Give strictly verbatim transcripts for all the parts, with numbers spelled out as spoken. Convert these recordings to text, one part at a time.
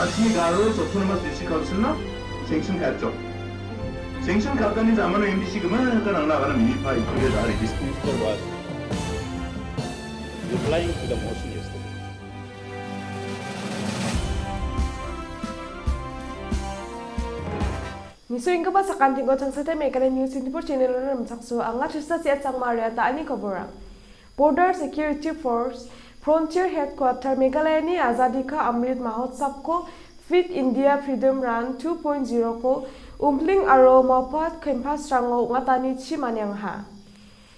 Asmi Garo Autonomous District Council-no sanction ka·atjok. Sanction ka·atani jamano M D C gimikgipa nangna agana minipa itude da register was replying to the motion yesterday. Nisoenggipa sakantigo Changsete Meghalaya News twenty-four channel-ona rimchaksoa, anga Trista Siat Sangma ariata ani koborang. Border Security Force, Frontier Headquarter, Meghalayani Azadi Ka Amrit Mahotsavko Fit India Freedom Run two point zero-ko Umbling aro Mawphat campus-rango ong·atanichi maniangaha.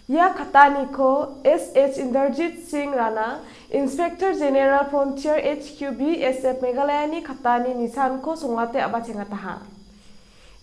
Ia kataniko S H Inderjit Singh Rana, Inspector General Frontier H Q B S F Meghalayani katani nisanko songate a·bachengataha.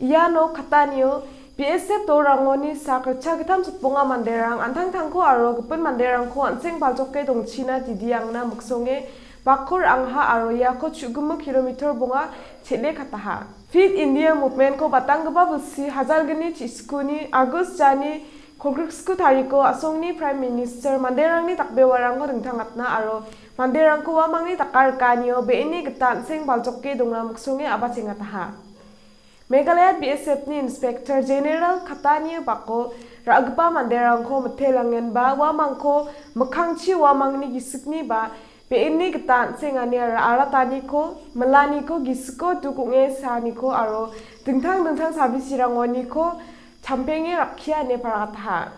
Iano katanio B S F dolrangoni sak ritchagittam sotbonga manderang an·tangtangko aro gipin manderangko an·seng baljoke dongchina didiangna miksonge bakko ra·angaha aro iako chu·gimik kilometer bonga chel·e kataha. Fit India Movement-ko batanggipa bilsi hajalgni chiskuni August jani kolgriksku tariko a·songni Prime Minister manderangni dakbewarangko dingtangatna aro manderangko uamangni dakarikanio be·eni gita an·seng baljoke dongna miksonge a·bachengataha. Meghalaya B S F-ni Inspector General katani bako ra·gipa manderangko mitelangenba uamangko mikkangchi uamangni gisikni ba be·eni gita an·sengani ra·arataniko, milaniko, gisiko duk ong·e saaniko aro dingtang dingtang sabisirangoniko champenge rakkia ine parataha.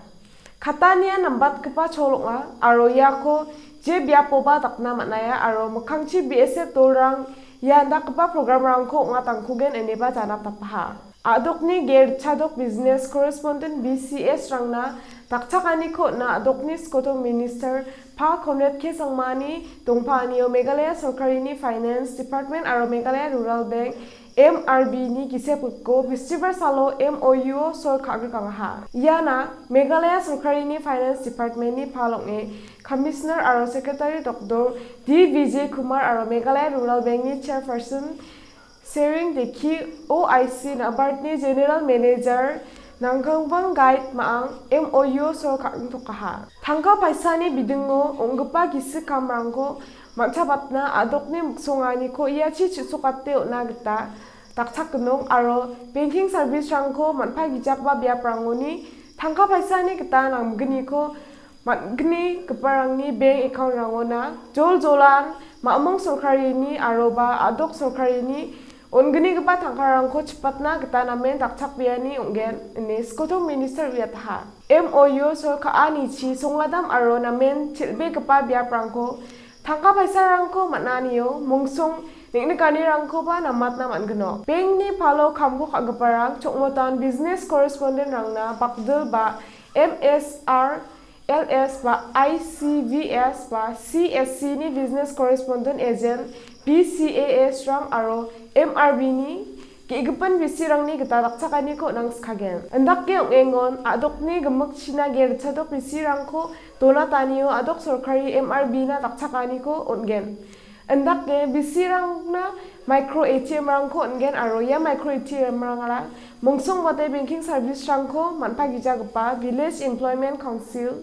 Katania nambatgipa chol ong·a aro iako je biapoba dakna man·aia aro mikkangchi B S F dolrang ia indakgipa programrangko ong·atangkugen ineba janatapaha. A·dokni Gerchadok Business Correspondent B C S-rangna dakchakaniko on·a a·dokni skoto minister Pa Conrad K Sangmani dongpaanio Meghalaya sorkarini Finance Department aro Meghalaya Rural Bank M R B-ni gisep griko bistibar salo M O U-o sol ka·grikangaha. Iana Meghalaya sorkarini Finance Department-ni pal ong·e Commissioner aro Secretary Doktor D Vijay Kumar aro Meghalaya Rural Bank-ni Chairperson Sering Deki, O I C Nabardni General Manager Nangkangbang Guide Ma·ang M O U sol ka·ingtokaha. Tangka paisani bidingo ong·gipa gisik kamrangko man·chabatna a·dokni miksonganiko iachi chu·sokate on·a gita dakchakgnok aro banking service-rangko man·pagijakba biaprangoni tangka paisani gita namgniko man·gnigiparangni bank account-rangona jol jolan ma·mong sorkarini aroba a·dok sorkarini on·gnigipa tangkarangko chipatna gita namen dakchakbeani ong·gen, ine skoto minister uiataha. M O U sol ka·anichi songadam aro namen chel·begipa biaprangko tangka paisarangko man·anio mongsong neng·nikanirangkoba namatna man·gnok. Bank-ni palo kamko ka·giparang Chokmotown business correspondent-rangna bakdil ba M S R L S ba I C V S ba C S C-ni business correspondent agent B C A S-rang aro M R B-ni ge·gipin bisirangni gita dakchakaniko nangskagen. Indake ong·engon a·dokni gimikchina ge·ritchadok bisirangko donatanio a·dok sorkari M R B-na dakchakaniko on·gen. Indake bisirangna micro A T M-rangko on·gen aro ia micro A T M-rangara mongsongbate banking service-rangko man·pagijagipa Village Employment Council,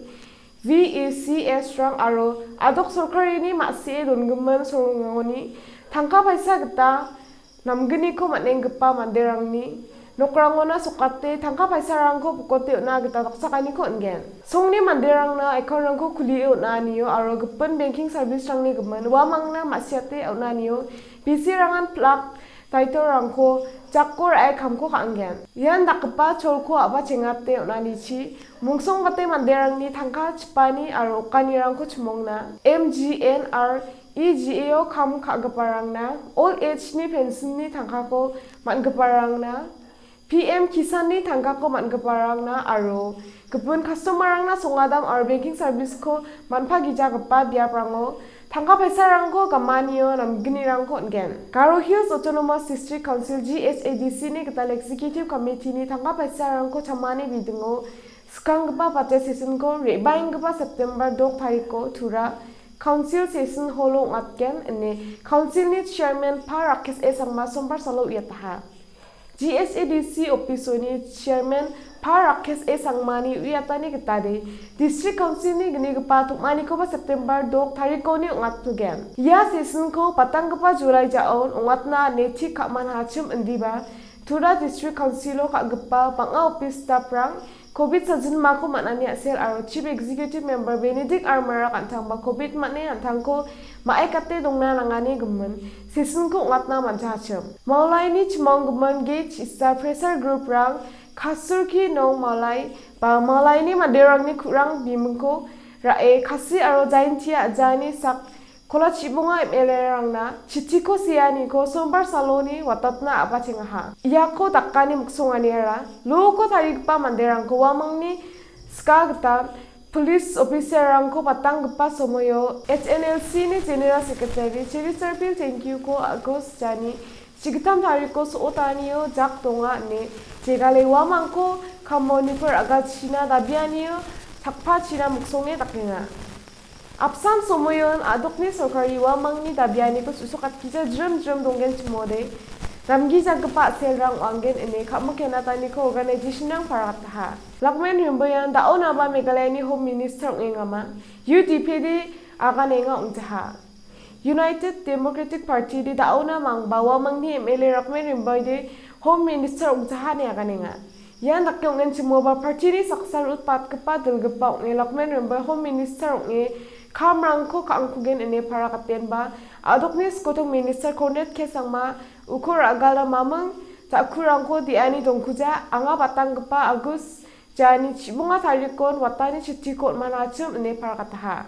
V E C S-rang aro a·dok sorkarini ma·sie dongimin sorongangoni tangka paisa gita namgniko man·enggipa manderangni nokrangona sokate tangka paisarangko bokote on·a gita dakchakaniko on·gen. Songni manderangna account-rangko kulie on·anio aro gipin banking service-rangni gimin uamangna ma·siate on·anio bisirangan plak title-rangko jako ra·e kamko ka·angen. Ian dakgipa cholko a·bachengate on·anichi mongsongbate manderangni tangka chipani aro okanirangko chimongna M G N R E G A-o kam ka·giparangna, Old Age-ni pension-ni tangkako man·giparangna, P M Kisan-ni tangkako man·giparangna aro gipin customer-rangna songadam aro banking service-ko man·pagijagipa biaprango tangka paisarangko gamanio namgnirangko on·gen. Garo Hills Autonomous District Council, G H A D C-ni gital Executive Committee-ni tangka paisarangko chamani bidingo skanggipa budget session-ko re·baenggipa September dok tariko Tura Council Session Hall-o ong·atgen ine Council-ni Chairman Pa Rakesh A Sangma Sombar salo uiataha. G S A D C office-oni chairman Pa Rakesh A Sangmani uiatani gitade, District Council-ni gnigipa tom·anikoba September dok tarikoni ong·atgen. Ia session-ko patanggipa July ja·on ong·atna ine tik ka·man hachim indiba, Tura District Council-o ka·gipa bang·a office staff-rang covid sajilmako man·ani a·sel aro Chief Executive Member Benedict R Marak an·tangba covid man·e an·tangko ma·aikate dongna nangani gimin session-ko ong·atna man·jahachim. Maulaini chimonggimin Gate Star Pressure Group-rang Kasurki Nong Maulai ba Maulaini manderangni ku·rang bimingko ra·e Khasi aro Jaintia a·jaani sak Kola Chibonga M L A-rangna chitiko seaniko Sombar saloni watatna a·bachengaha. Iako dakani miksonganiara loko tarigipa manderangko uamangni ska gita police officer-rangko patanggipa somoio H N L C-ni General Secretary Cheriserpil Tengkiuko August jani chigittam tariko so·otanio jak donga ine jegale uamangko kamoniko ra·galchina dabianio takpachina miksonge dakenga. Apsan somoion a·dokni sorkari uamangni dabianiko su·sokatgija jrim jrim donggenchimode, namgijagipa a·selrang ong·angen ine ka·mik kenataniko organization-rang paragataha. Lakmen Rimboian da·onaba Meghalayani Home Minister ong·engama, U D P-de aganenga ong·jaha. United Democratic Party-de da·ona mangba uamangni M L A Lakmen Rimboide Home Minister ong·jaha ine aganenga. Ian dake ong·enchimoba party-ni saksa rutbatgipa dilgipa ong·e Lakmen Rimboi Home Minister ong·e kamrangko ka·angkugen ine paragatenba a·dokni skotong Minister Conrad K Sangma uko ra·gala maming ja·kurangko de·ani dongkuja anga batanggipa Agus jani chibonga tarikon watani chitiko on·manachim ine paragataha.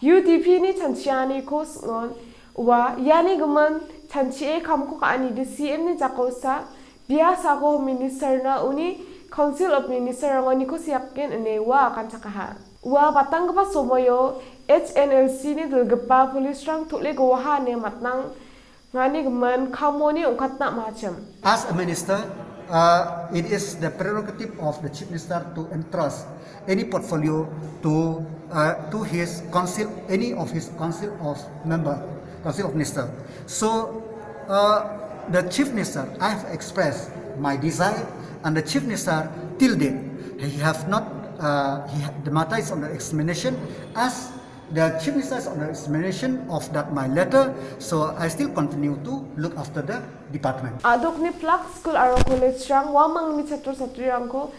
U D P-ni chanchianiko sing·on ua iani gimin chanchie kamko ka·anide C M-ni jakosa Biasako Home Minister-na uni Council of Minister-rangoniko seaken ine ua aganchakaha. Ua batanggipa somoio H N L C-ni dilgipa police-rang tole goaha ine matnangani gimin kamoni ong·katna am·achim. As a minister, uh, it is the prerogative of the Chief Minister to entrust any portfolio to, uh, to his council, any of his council of member, council of minister. So, uh, the Chief Minister, I have expressed my desire, and the Chief Minister till date, he have not, uh, he ha-, the matter is under examination. As the Chief Minister is under examination of that my letter, so I still continue to look after the department. A·dokni plak skul aro college-rang uamangni chatro chatrirangko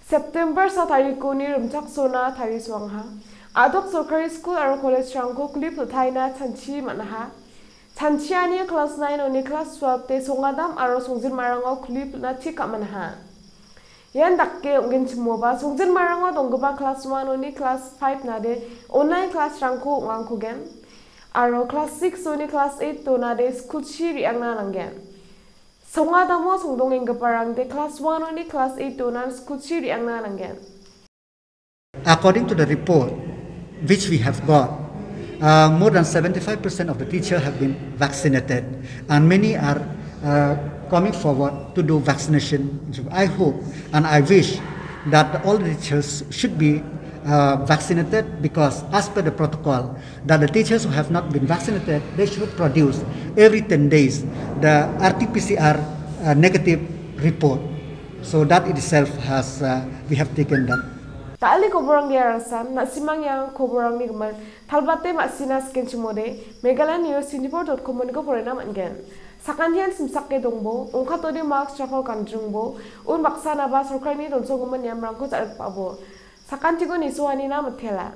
September sa tarikoni rimchaksona tarisoangaha. A·dok sorkari skul aro college-rangko kuli pil·taina chanchi man·aha. Chanchiani class nine-oni class twelve-de Songadam aro Songjinmarango kuli pil·na tik ka·manaha. Ian dake ong·genchimoba Songjinmarango donggipa class one-oni class five-nade online class-rangko ong·angkugen. Aro class six-oni class eight-onade skulchi re·angna nanggen. Songadamo songdongenggiparangde class one-oni class eight-onan skulchi re·angna nanggen. According to the report which we have got, uh, more than seventy-five percent of the teacher have been vaccinated, and many are, uh, coming forward to do vaccination. I hope and I wish that all the teachers should be, uh, vaccinated, because as per the protocol, that the teachers who have not been vaccinated, they should produce every ten days the R T P C R, uh, negative report. So that itself has, uh, we have taken that. Da·alni koborang ia rangsan, na·simang ia koborangni gimin, talbate ma·sina skenchimode, Meghalaya News twenty-four dot com-oniko porena man·gen. Sakantian simsake dongbo, ongkatode mask jako gandringbo, un baksanaba sorkarini donsonggimin niamrangko ja·rikbabo. Sakantiko nisoanina mitela.